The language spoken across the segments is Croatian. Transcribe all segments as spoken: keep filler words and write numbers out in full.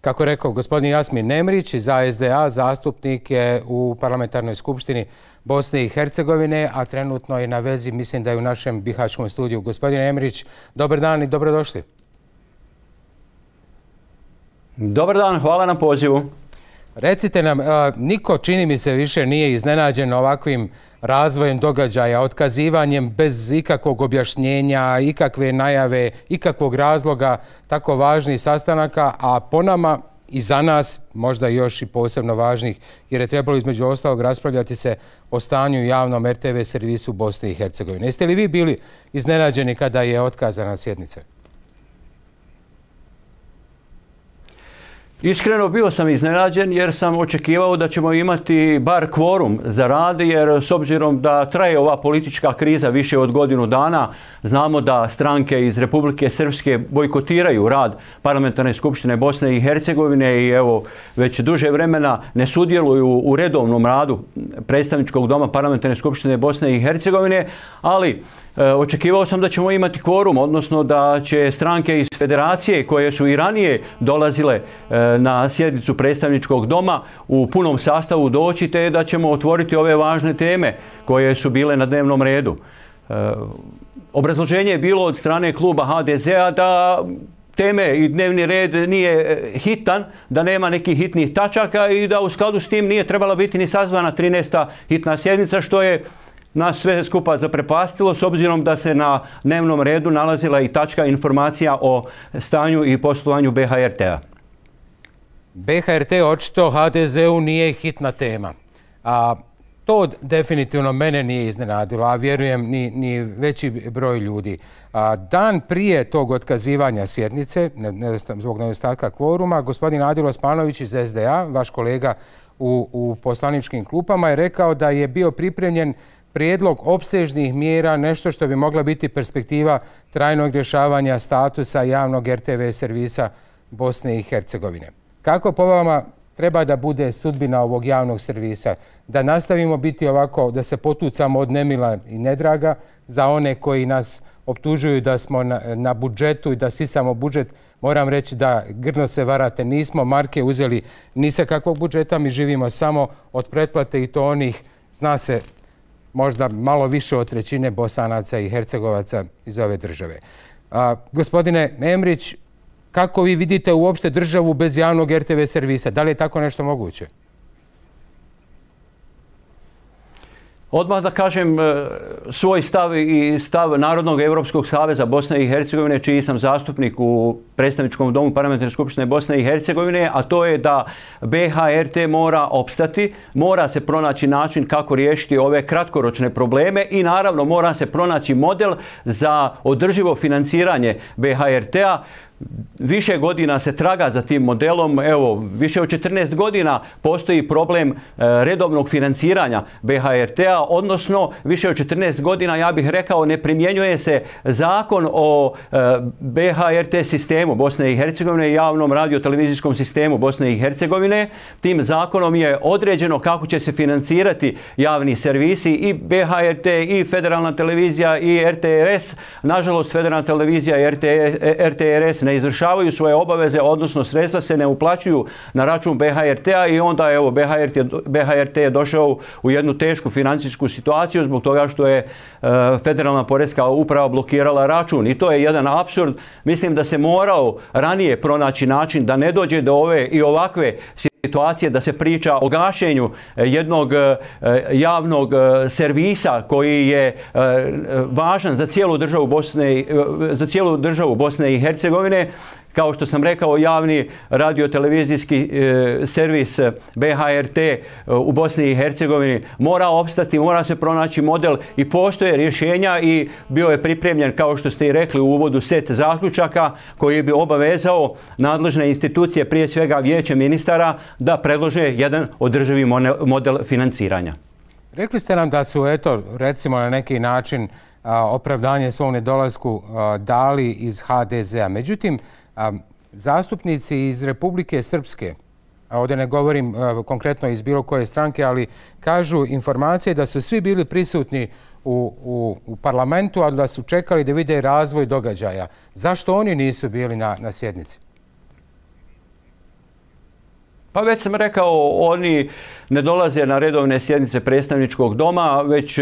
Kako rekao gospodin Jasmin Nemrić iz A S D A, zastupnik je u Parlamentarnoj skupštini Bosne i Hercegovine, a trenutno je na vezi, mislim da je u našem bihaćkom studiju. Gospodin Nemrić, dobar dan i dobrodošli. Dobar dan, hvala na pozivu. Recite nam, niko čini mi se više nije iznenađen ovakvim razvojem događaja, otkazivanjem bez ikakvog objašnjenja, ikakve najave, ikakvog razloga tako važnih sastanaka, a po nama i za nas možda još i posebno važnih, jer je trebalo između ostalog raspravljati se o stanju u javnom R T V servisu Bosne i Hercegovine. Jeste li vi bili iznenađeni kada je otkazana sjednica? Iskreno bio sam iznenađen jer sam očekivao da ćemo imati bar kvorum za rad, jer s obzirom da traje ova politička kriza više od godinu dana, znamo da stranke iz Republike Srpske bojkotiraju rad Parlamentarne skupštine Bosne i Hercegovine i evo već duže vremena ne sudjeluju u redovnom radu predstavničkog doma Parlamentarne skupštine Bosne i Hercegovine, ali očekivao sam da ćemo imati kvorum, odnosno da će stranke iz federacije koje su i ranije dolazile na sjednicu predstavničkog doma u punom sastavu doći, te da ćemo otvoriti ove važne teme koje su bile na dnevnom redu. Obrazloženje je bilo od strane kluba H D Z A da teme i dnevni red nije hitan, da nema nekih hitnih tačaka i da u skladu s tim nije trebala biti ni sazvana trinaesta hitna sjednica, što je nas sve skupa zaprepastilo s obzirom da se na dnevnom redu nalazila i tačka informacija o stanju i poslovanju B H R T-a. B H R T očito H D Z U nije hitna tema. A to definitivno mene nije iznenadilo, a vjerujem ni, ni veći broj ljudi. A dan prije tog otkazivanja sjednice, ne, ne, zbog nedostatka kvoruma, gospodin Adil Osmanović iz S D A, vaš kolega u, u poslaničkim klupama, je rekao da je bio pripremljen prijedlog opsežnih mjera, nešto što bi mogla biti perspektiva trajnog rješavanja statusa javnog R T V servisa Bosne i Hercegovine. Kako po vama treba da bude sudbina ovog javnog servisa? Da nastavimo biti ovako, da se potucamo od nemila i nedraga za one koji nas optužuju da smo na, na budžetu i da sisamo budžet? Moram reći da grdno se varate, nismo marke uzeli ni sa kakvog budžeta, mi živimo samo od pretplate i to onih, zna se, možda malo više od trećine Bosanaca i Hercegovaca iz ove države. A, gospodine Emrić, kako vi vidite uopšte državu bez javnog R T V servisa? Da li je tako nešto moguće? Odmah da kažem svoj stav i stav Narodnog Evropskog saveza Bosne i Hercegovine, čiji sam zastupnik u predstavničkom domu Parlamentarne skupštine Bosne i Hercegovine, a to je da B H R T mora opstati, mora se pronaći način kako riješiti ove kratkoročne probleme i naravno mora se pronaći model za održivo financiranje B H R T-a. Više godina se traga za tim modelom, evo, više od četrnaest godina postoji problem redovnog financiranja B H R T-a, odnosno više od četrnaest godina, ja bih rekao, ne primjenjuje se zakon o B H R T sistemu Bosne i Hercegovine i javnom radio-televizijskom sistemu Bosne i Hercegovine. Tim zakonom je određeno kako će se financirati javni servisi i B H R T i Federalna televizija i R T R S. Nažalost, Federalna televizija i R T R S ne izvršavaju svoje obaveze, odnosno sredstva se ne uplaćuju na račun B H R T-a i onda evo B H R T, B H R T je došao u jednu tešku financijsku situaciju zbog toga što je uh, Federalna poreska uprava blokirala račun i to je jedan apsurd. Mislim da se morao ranije pronaći način da ne dođe do ove i ovakve situacije, da se priča o gašenju jednog javnog servisa koji je važan za cijelu državu Bosne, za cijelu državu Bosne i Hercegovine. Kao što sam rekao, javni radio-televizijski e, servis B H R T u Bosni i Hercegovini mora opstati, mora se pronaći model i postoje rješenja i bio je pripremljen, kao što ste i rekli u uvodu, set zaključaka koji bi obavezao nadležne institucije, prije svega Vijeće ministara, da predlože jedan održivi model financiranja. Rekli ste nam da su, eto, recimo na neki način a, opravdanje svom nedolasku a, dali iz H D Z A. Međutim, a, zastupnici iz Republike Srpske, a ovdje ne govorim a, konkretno iz bilo koje stranke, ali kažu informacije da su svi bili prisutni u, u, u parlamentu, a da su čekali da vide razvoj događaja. Zašto oni nisu bili na, na sjednici? Pa već sam rekao, oni ne dolaze na redovne sjednice predstavničkog doma, već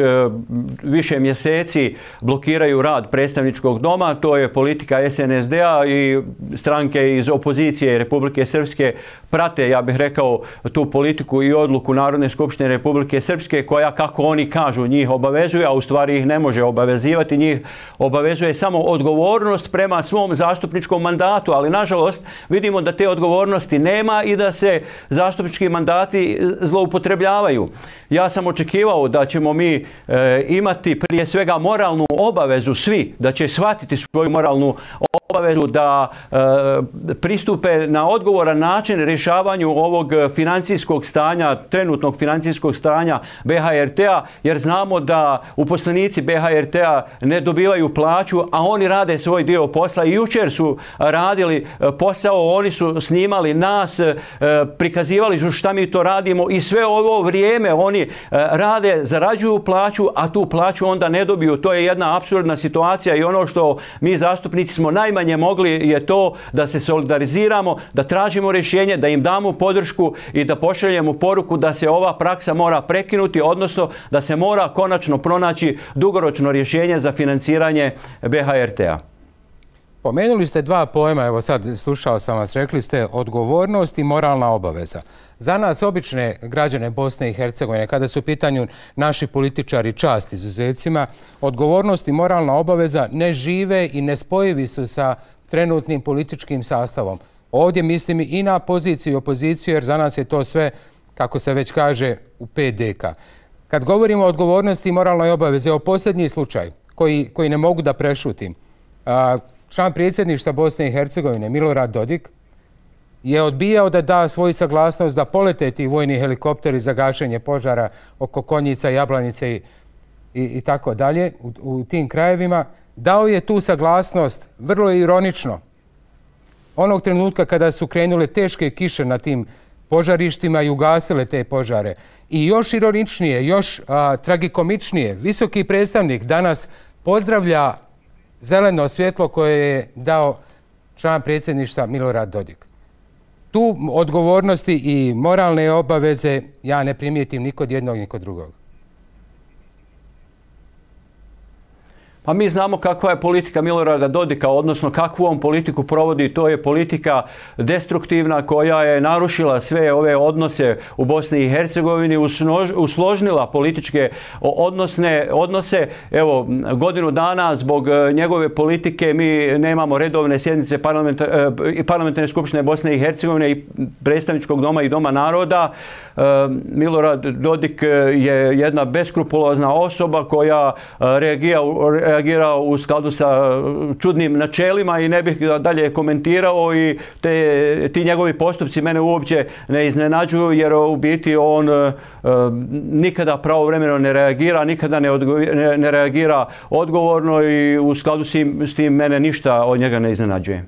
više mjeseci blokiraju rad predstavničkog doma. To je politika es en es de a i stranke iz opozicije Republike Srpske prate, ja bih rekao, tu politiku i odluku Narodne skupštine Republike Srpske koja, kako oni kažu, njih obavezuje, a u stvari ih ne može obavezivati. Njih obavezuje samo odgovornost prema svom zastupničkom mandatu, ali nažalost vidimo da te odgovornosti nema i da se zastupnički mandati zloupotrebljavaju. Ja sam očekivao da ćemo mi e, imati prije svega moralnu obavezu svi, da će shvatiti svoju moralnu obavezu da e, pristupe na odgovoran način rješavanju ovog financijskog stanja, trenutnog financijskog stanja be ha er te a, jer znamo da uposlenici be ha er te a ne dobivaju plaću, a oni rade svoj dio posla. I jučer su radili posao, oni su snimali nas, e, prikazivali su šta mi to radimo i sve ovo vrijeme oni e, rade, zarađuju plaću, a tu plaću onda ne dobiju. To je jedna apsurdna situacija i ono što mi zastupnici smo najmanje mogli je to da se solidariziramo, da tražimo rješenje, da im damo podršku i da pošaljemo poruku da se ova praksa mora prekinuti, odnosno da se mora konačno pronaći dugoročno rješenje za financiranje be ha er te a. Pomenuli ste dva pojma, evo sad slušao sam vas, rekli ste odgovornost i moralna obaveza. Za nas, obične građane Bosne i Hercegovine, kada su u pitanju naši političari, čast izuzecima, odgovornost i moralna obaveza ne žive i ne spojivi su sa trenutnim političkim sastavom. Ovdje mislim i na poziciju i opoziciju, jer za nas je to sve, kako se već kaže, u pet deka. Kad govorimo o odgovornosti i moralnoj obavezi, evo posljednji slučaj koji, koji ne mogu da prešutim. A, član predsjedništva Bosne i Hercegovine, Milorad Dodik, je odbijao da da svoju saglasnost da polete ti vojni helikopteri za gašenje požara oko Konjica, Jablanice i, i, i tako dalje u, u tim krajevima. Dao je tu saglasnost, vrlo ironično, onog trenutka kada su krenule teške kiše na tim požarištima i ugasile te požare. I još ironičnije, još a, tragikomičnije, visoki predstavnik danas pozdravlja zeleno svjetlo koje je dao član predsjedništva Milorad Dodik. Tu odgovornosti i moralne obaveze ja ne primijetim ni kod jednog ni kod drugog. Pa mi znamo kakva je politika Milorada Dodika, odnosno kakvu on politiku provodi. To je politika destruktivna koja je narušila sve ove odnose u Bosni i Hercegovini, usložnila političke odnosne, odnose. Evo, godinu dana zbog njegove politike mi nemamo redovne sjednice parlamentar, parlamentarne skupštine Bosne i Hercegovine i predstavničkog doma i doma naroda. Milorad Dodik je jedna beskrupulozna osoba koja reagira reagirao u skladu sa čudnim načelima i ne bih dalje komentirao i te, ti njegovi postupci mene uopće ne iznenađuju jer u biti on e, nikada pravovremeno ne reagira, nikada ne, odgo, ne, ne reagira odgovorno i u skladu s tim, s tim mene ništa od njega ne iznenađuje.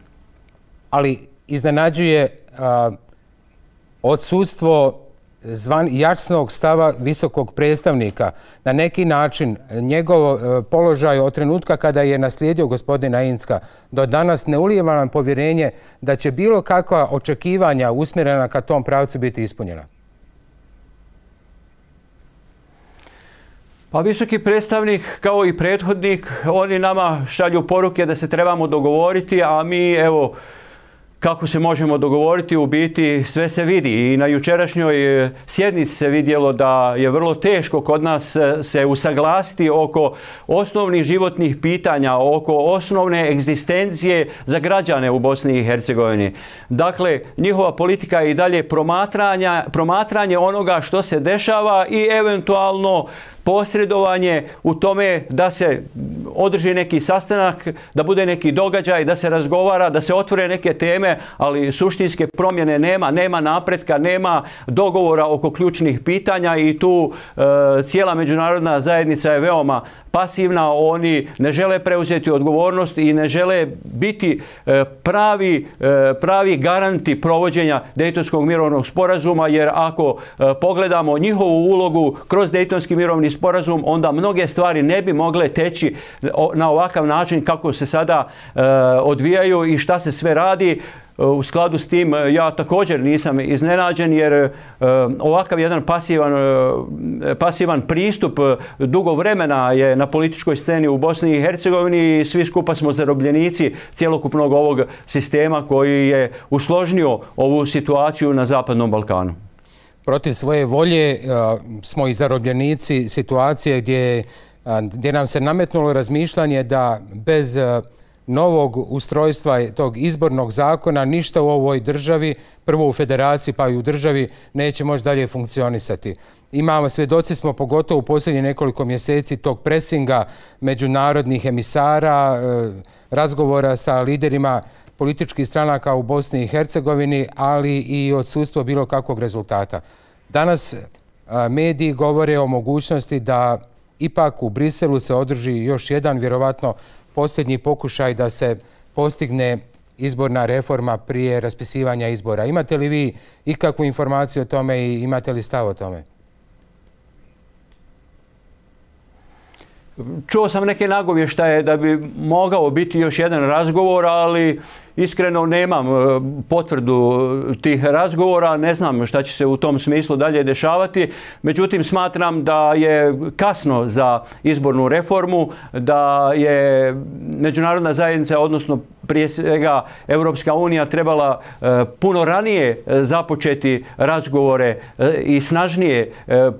Ali iznenađuje a, odsustvo zvan jasnog stava visokog predstavnika. Na neki način njegov položaj od trenutka kada je naslijedio gospodina Incka do danas ne ulijeva nam povjerenje da će bilo kakva očekivanja usmjerena ka tom pravcu biti ispunjena. Pa visoki predstavnik kao i prethodnik, oni nama šalju poruke da se trebamo dogovoriti, a mi evo kako se možemo dogovoriti, u biti sve se vidi. I na jučerašnjoj sjednici se vidjelo da je vrlo teško kod nas se usaglasiti oko osnovnih životnih pitanja, oko osnovne egzistencije za građane u Bosni i Hercegovini. Dakle, njihova politika je i dalje promatranja, promatranje onoga što se dešava i eventualno posredovanje u tome da se održi neki sastanak, da bude neki događaj, da se razgovara, da se otvore neke teme, ali suštinske promjene nema, nema napretka, nema dogovora oko ključnih pitanja i tu e, cijela međunarodna zajednica je veoma pasivna. Oni ne žele preuzeti odgovornost i ne žele biti e, pravi, e, pravi garanti provođenja Dejtonskog mirovnog sporazuma, jer ako e, pogledamo njihovu ulogu kroz Dejtonski mirovni sporazum, onda mnoge stvari ne bi mogle teći na ovakav način kako se sada e, odvijaju i šta se sve radi. u skladu s tim ja također nisam iznenađen jer ovakav jedan pasivan, pasivan pristup dugo vremena je na političkoj sceni u Bosni i Hercegovini i svi skupa smo zarobljenici cjelokupnog ovog sistema koji je usložnio ovu situaciju na Zapadnom Balkanu. Protiv svoje volje smo i zarobljenici situacije gdje, gdje nam se nametnulo razmišljanje da bez novog ustrojstva tog izbornog zakona ništa u ovoj državi, prvo u federaciji pa i u državi, neće moći dalje funkcionisati. Imamo, svjedoci smo pogotovo u posljednjih nekoliko mjeseci tog presinga međunarodnih emisara, razgovora sa liderima političkih stranaka u Bosni i Hercegovini, ali i odsustvo bilo kakvog rezultata. Danas mediji govore o mogućnosti da ipak u Briselu se održi još jedan, vjerovatno posljednji pokušaj da se postigne izborna reforma prije raspisivanja izbora. Imate li vi ikakvu informaciju o tome i imate li stav o tome? Čuo sam neke nagovještaje da bi mogao biti još jedan razgovor, ali iskreno nemam potvrdu tih razgovora, ne znam šta će se u tom smislu dalje dešavati. Međutim, smatram da je kasno za izbornu reformu, da je međunarodna zajednica, odnosno prije svega Europska unija, trebala puno ranije započeti razgovore i snažnije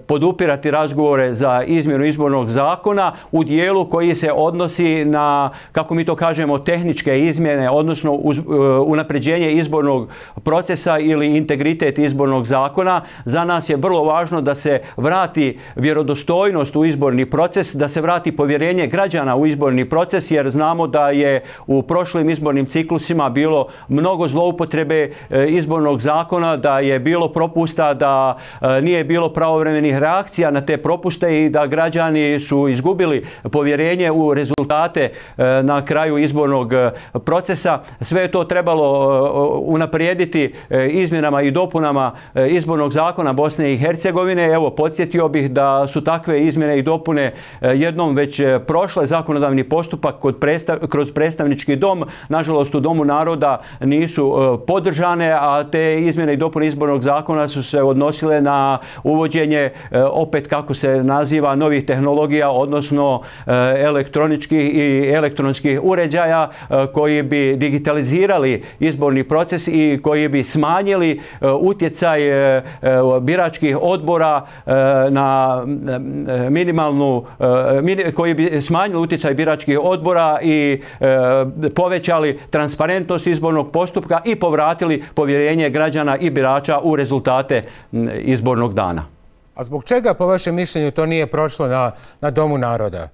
podupirati razgovore za izmjenu izbornog zakona u dijelu koji se odnosi na, kako mi to kažemo, tehničke izmjene, odnosno uz unapređenje izbornog procesa ili integritet izbornog zakona. Za nas je vrlo važno da se vrati vjerodostojnost u izborni proces, da se vrati povjerenje građana u izborni proces, jer znamo da je u prošlim izbornim ciklusima bilo mnogo zloupotrebe izbornog zakona, da je bilo propusta, da nije bilo pravovremenih reakcija na te propuste i da građani su izgubili povjerenje u rezultate na kraju izbornog procesa. Sve je to trebalo unaprijediti izmjenama i dopunama izbornog zakona Bosne i Hercegovine. Evo, podsjetio bih da su takve izmjene i dopune jednom već prošle zakonodavni postupak kod predstav, kroz predstavnički dom. Nažalost, u Domu naroda nisu podržane, a te izmjene i dopune izbornog zakona su se odnosile na uvođenje, opet kako se naziva, novih tehnologija, odnosno elektroničkih i elektronskih uređaja koji bi digitalizirali izborni proces i koji bi smanjili utjecaj biračkih odbora na minimalnu, koji bi smanjili utjecaj biračkih odbora i povećali transparentnost izbornog postupka i povratili povjerenje građana i birača u rezultate izbornog dana. A zbog čega, po vašem mišljenju, to nije prošlo na, na Domu naroda?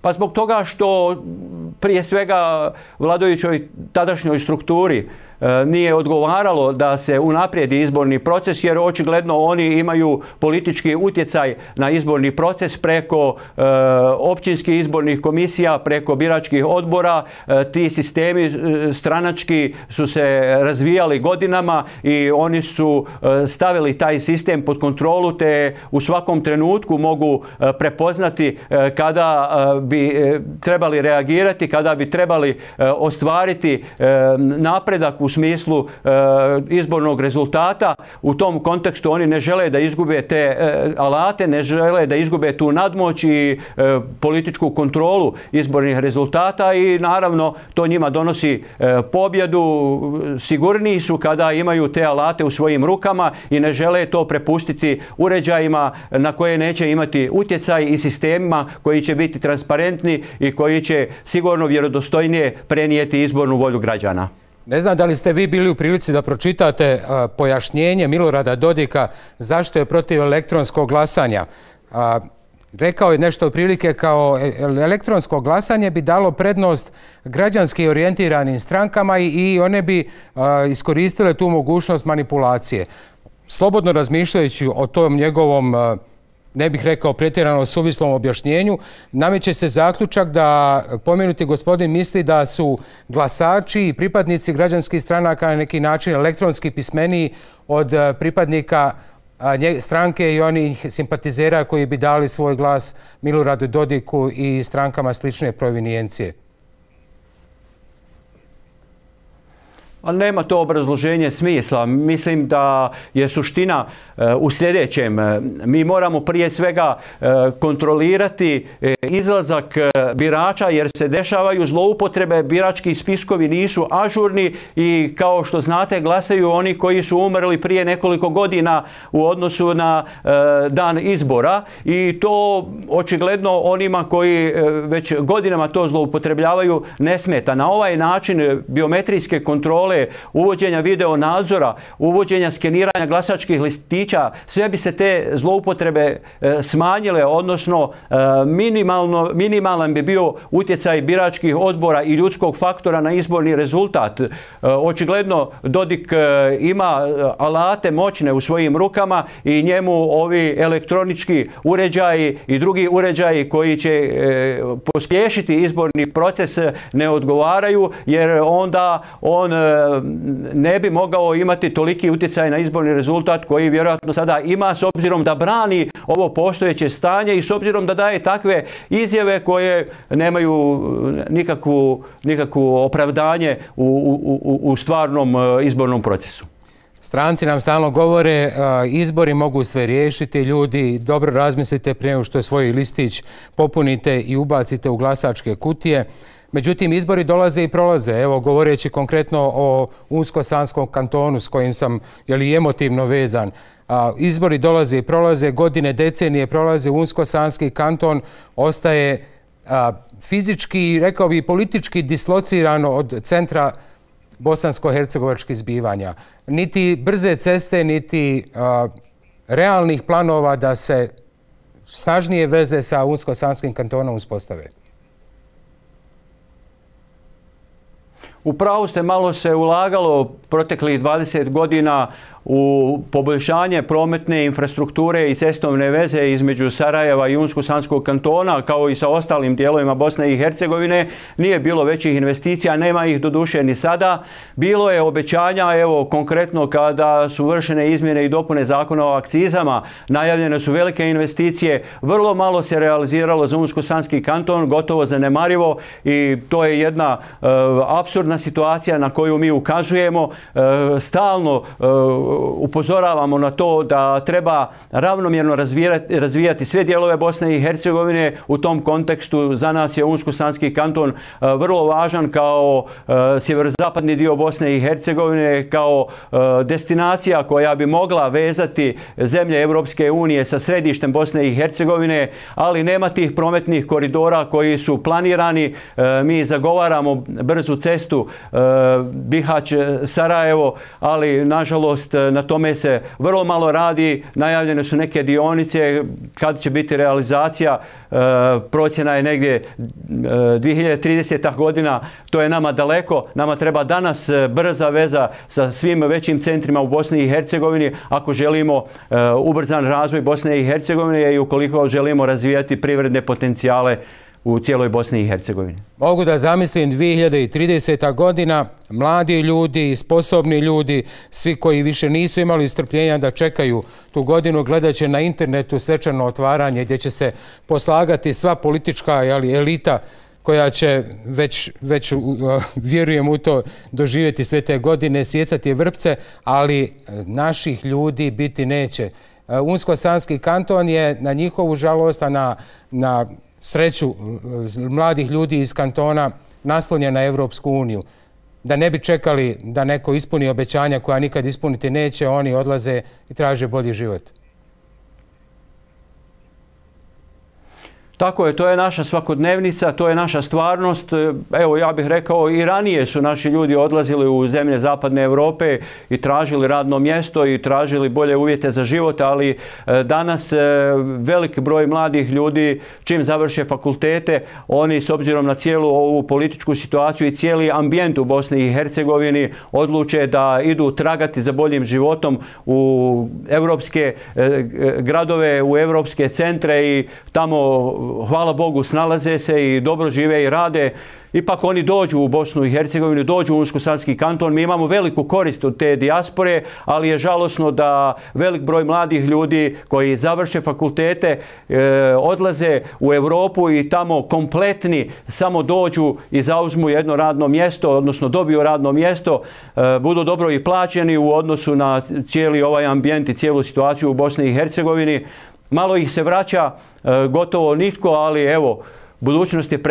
Pa zbog toga što prije svega vladajućoj tadašnjoj strukturi nije odgovaralo da se unaprijedi izborni proces, jer očigledno oni imaju politički utjecaj na izborni proces preko e, općinskih izbornih komisija, preko biračkih odbora. E, ti sistemi e, stranački su se razvijali godinama i oni su e, stavili taj sistem pod kontrolu, te u svakom trenutku mogu e, prepoznati e, kada e, bi e, trebali reagirati, kada bi trebali e, ostvariti e, napredak u smislu e, izbornog rezultata. U tom kontekstu oni ne žele da izgube te e, alate, ne žele da izgube tu nadmoć i e, političku kontrolu izbornih rezultata i naravno to njima donosi e, pobjedu. Sigurniji su kada imaju te alate u svojim rukama i ne žele to prepustiti uređajima na koje neće imati utjecaj i sistemima koji će biti transparentni i koji će sigurno vjerodostojnije prenijeti izbornu volju građana. Ne znam da li ste vi bili u prilici da pročitate uh, pojašnjenje Milorada Dodika zašto je protiv elektronskog glasanja. Uh, rekao je nešto otprilike kao elektronsko glasanje bi dalo prednost građanski orijentiranim strankama i, i one bi uh, iskoristile tu mogućnost manipulacije. Slobodno razmišljajući o tom njegovom uh, ne bih rekao pretjerano suvislom objašnjenju, nameće se zaključak da pomenuti gospodin misli da su glasači i pripadnici građanskih stranaka na neki način elektronski pismeniji od pripadnika stranke i onih simpatizera koji bi dali svoj glas Miloradu Dodiku i strankama slične provinijencije. A nema to obrazloženje smisla. Mislim da je suština u sljedećem. Mi moramo prije svega kontrolirati izlazak birača jer se dešavaju zloupotrebe, birački spiskovi nisu ažurni i kao što znate glasaju oni koji su umrli prije nekoliko godina u odnosu na dan izbora i to očigledno onima koji već godinama to zloupotrebljavaju ne smeta. Na ovaj način biometrijske kontrole, uvođenja video nadzora, uvođenja skeniranja glasačkih listića, sve bi se te zloupotrebe smanjile, odnosno minimalno, minimalan bi bio utjecaj biračkih odbora i ljudskog faktora na izborni rezultat. Očigledno Dodik ima alate moćne u svojim rukama i njemu ovi elektronički uređaji i drugi uređaji koji će pospješiti izborni proces ne odgovaraju jer onda on ne bi mogao imati toliki utjecaj na izborni rezultat koji vjerojatno sada ima s obzirom da brani ovo postojeće stanje i s obzirom da daje takve izjave koje nemaju nikakvu, nikakvu opravdanje u, u, u stvarnom izbornom procesu. Stranci nam stalno govore izbori mogu sve riješiti, ljudi dobro razmislite prije nego što svoj listić popunite i ubacite u glasačke kutije. Međutim, izbori dolaze i prolaze. Evo, govoreći konkretno o Unsko-Sanskom kantonu s kojim sam jeli, emotivno vezan. A, izbori dolaze i prolaze, godine, decenije prolaze, Unsko-Sanski kanton ostaje a, fizički i rekao bi politički dislocirano od centra bosansko-hercegovačkih zbivanja. Niti brze ceste, niti a, realnih planova da se snažnije veze sa Unsko-Sanskim kantonom uspostave. U pravu ste, malo se ulagalo proteklih dvadeset godina u poboljšanje prometne infrastrukture i cestovne veze između Sarajeva i Unsko-Sanskog kantona, kao i sa ostalim dijelovima Bosne i Hercegovine. Nije bilo većih investicija, nema ih doduše ni sada. Bilo je obećanja, evo konkretno kada su vršene izmjene i dopune zakona o akcizama, najavljene su velike investicije, vrlo malo se realiziralo za Unsko-Sanski kanton, gotovo zanemarivo i to je jedna uh, apsurdna situacija na koju mi ukazujemo. Uh, stalno uh, upozoravamo na to da treba ravnomjerno razvijati, razvijati sve dijelove Bosne i Hercegovine. U tom kontekstu za nas je Unsko-Sanski kanton vrlo važan kao sjeverozapadni dio Bosne i Hercegovine, kao destinacija koja bi mogla vezati zemlje Europske unije sa središtem Bosne i Hercegovine, ali nema tih prometnih koridora koji su planirani. Mi zagovaramo brzu cestu Bihać-Sarajevo, ali nažalost na tome se vrlo malo radi. Najavljene su neke dionice, kad će biti realizacija, procjena je negdje dvije hiljade trideseta godina, to je nama daleko. Nama treba danas brza veza sa svim većim centrima u Bosni i Hercegovini ako želimo ubrzan razvoj Bosne i Hercegovine i ukoliko želimo razvijati privredne potencijale u cijeloj Bosni i Hercegovini. Mogu da zamislim dvije hiljade trideseta godina, mladi ljudi, sposobni ljudi, svi koji više nisu imali strpljenja da čekaju tu godinu, gledat će na internetu svečano otvaranje gdje će se poslagati sva politička jeli, elita koja će već, već vjerujem u to, doživjeti sve te godine, sjecati vrpce, ali naših ljudi biti neće. Unsko-Sanski kanton je na njihovu žalost, a na, na sreću mladih ljudi iz kantona naslonjen na Evropsku uniju. Da ne bi čekali da neko ispuni obećanja koja nikad ispuniti neće, oni odlaze i traže bolji život. Tako je, to je naša svakodnevnica, to je naša stvarnost. Evo, ja bih rekao, i ranije su naši ljudi odlazili u zemlje Zapadne Europe i tražili radno mjesto i tražili bolje uvjete za život, ali danas veliki broj mladih ljudi, čim završe fakultete, oni s obzirom na cijelu ovu političku situaciju i cijeli ambijent u Bosni i Hercegovini odluče da idu tragati za boljim životom u evropske gradove, u evropske centre i tamo hvala Bogu, snalaze se i dobro žive i rade. Ipak oni dođu u Bosnu i Hercegovinu, dođu u Unsko-Sanski kanton. Mi imamo veliku korist od te dijaspore, ali je žalosno da velik broj mladih ljudi koji završe fakultete e, odlaze u Europu i tamo kompletni samo dođu i zauzmu jedno radno mjesto, odnosno dobiju radno mjesto, e, budu dobro i plaćeni u odnosu na cijeli ovaj ambijent i cijelu situaciju u Bosni i Hercegovini. Malo ih se vraća, e, gotovo nitko, ali evo, budućnost je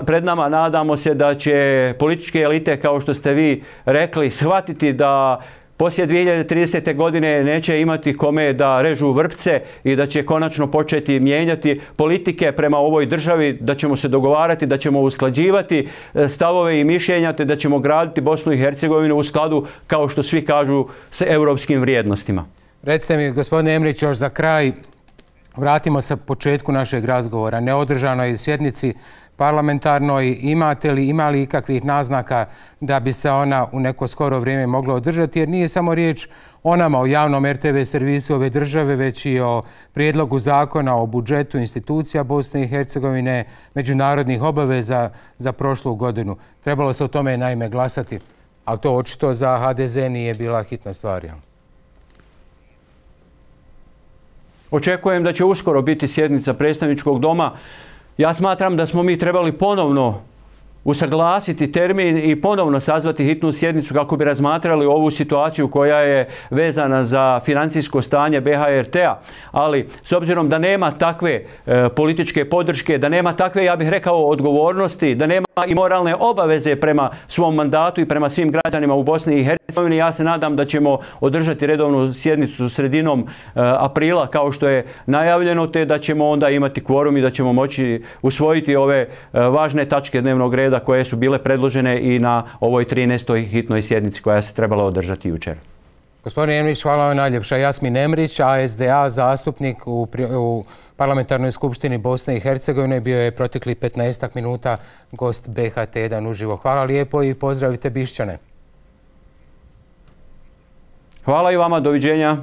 pred nama. Nadamo se da će političke elite, kao što ste vi rekli, shvatiti da poslije dvije hiljade tridesete. godine neće imati kome da režu vrpce i da će konačno početi mijenjati politike prema ovoj državi, da ćemo se dogovarati, da ćemo usklađivati stavove i mišljenja, te da ćemo graditi Bosnu i Hercegovinu u skladu, kao što svi kažu, s europskim vrijednostima. Recite mi, gospodine Emrić, još za kraj, vratimo se početku našeg razgovora. Neodržanoj sjednici parlamentarnoj, imate li, ima li ikakvih naznaka da bi se ona u neko skoro vrijeme mogla održati? Jer nije samo riječ o nama, o javnom er te ve servisu ove države, već i o prijedlogu zakona o budžetu institucija Bosne i Hercegovine, međunarodnih obaveza za prošlu godinu. Trebalo se o tome naime glasati, ali to očito za ha de ze nije bila hitna stvar. Očekujem da će uskoro biti sjednica predstavničkog doma. Ja smatram da smo mi trebali ponovno usaglasiti termin i ponovno sazvati hitnu sjednicu kako bi razmatrali ovu situaciju koja je vezana za financijsko stanje be ha er te a. Ali s obzirom da nema takve e, političke podrške, da nema takve, ja bih rekao, odgovornosti, da nema i moralne obaveze prema svom mandatu i prema svim građanima u Bosni i Hercegovini, ja se nadam da ćemo održati redovnu sjednicu sredinom e, aprila kao što je najavljeno, te da ćemo onda imati kvorum i da ćemo moći usvojiti ove e, važne tačke dnevnog reda koje su bile predložene i na ovoj trinaestoj hitnoj sjednici koja se trebala održati jučer. Gospodin Emrić, hvala vam najljepša. Jasmin Emrić, a es de a zastupnik u, u Parlamentarnoj skupštini Bosne i Hercegovine, bio je protekli petnaestak minuta gost be ha te jedan uživo. Hvala lijepo i pozdravite Bišćane. Hvala i vama, doviđenja.